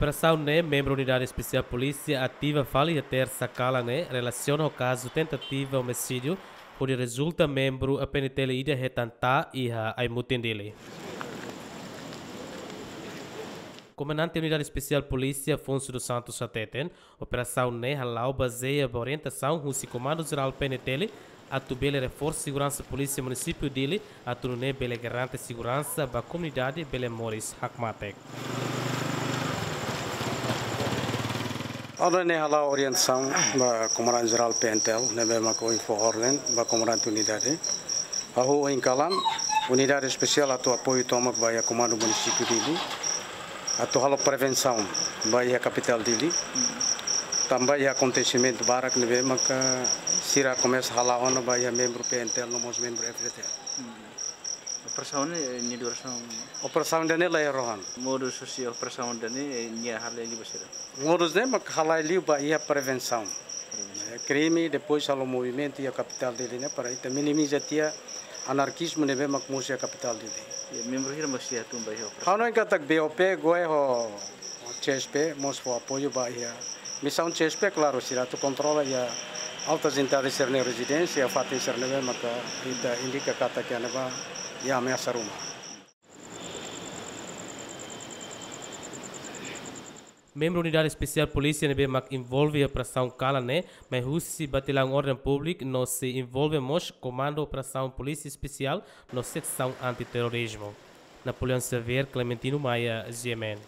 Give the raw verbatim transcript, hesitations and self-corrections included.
Operasaun ne'e membru Unidade Espesiál Polísia ativa fali iha Tersa kalan ne'e relasiona ho kazu tentativa omisídiu, hodi rezulta membru P N T L ida hetan taa iha Aimutin, Dili. Komandante Unidade Espesiál Polísia Afonso dos Santos hateten, operasaun ne'e hala'o bazeia ba orientasaun husi Komandu Jerál P N T L, atu bele reforsa seguransa polísia munisípiu Dili, atu nune'e bele garante seguransa ba komunidade bele moris hakmatek. Entaun ne'e hala'o orientasaun ba Komandante Jerál P N T L, ne'ebé mak fó orden ba komandante unidade. Hahú ohin kalan, unidade espesiál atu apoiu tomak ba iha Komandu Munisípiu Dili, atu halo prevensaun ba iha kapitál Dili. Tanba iha akontesimentu barak ne'ebé maka sira komesa hala'o ona ba iha membru P N T L no mós membru F D T L. Operasaun ne'e, eh, nia durasaun? Operasaun ida-ne'e la iha rohan. Modus husi operasaun ida-ne'e, eh, nia halai liu ba saida? Modus ne'e mak halai liu ba iha prevensaun. Prevensaun. Eh, krime, depois halo movimentu iha kapitál Dili ne'e para ita minimiza tiha anarkizmu ne'ebé mak mosu iha kapitál Dili. Iha membru hira mak sei tun ba iha operasaun? Ha'u hanoin katak B O P, GOEE ho C S P mós fó apoiu ba iha misaun C S P, klaru, sira atu kontrola iha alta intensidade sira-nia rezidénsia, fatin sira ne'ebé maka ita indika katak iha ne'ebá iha ameasa ruma. Membru Unidade Espesiál Polísia ne'ebé mak envolve iha operasaun kalan ne'e, mai husi Batallaun Orden Públiku no sei envolve mós Komandu Operasaun Polísia Espesiál no Seksaun Antiterrorizmu. Napoleão Xavier, Clementino Maia, G M N.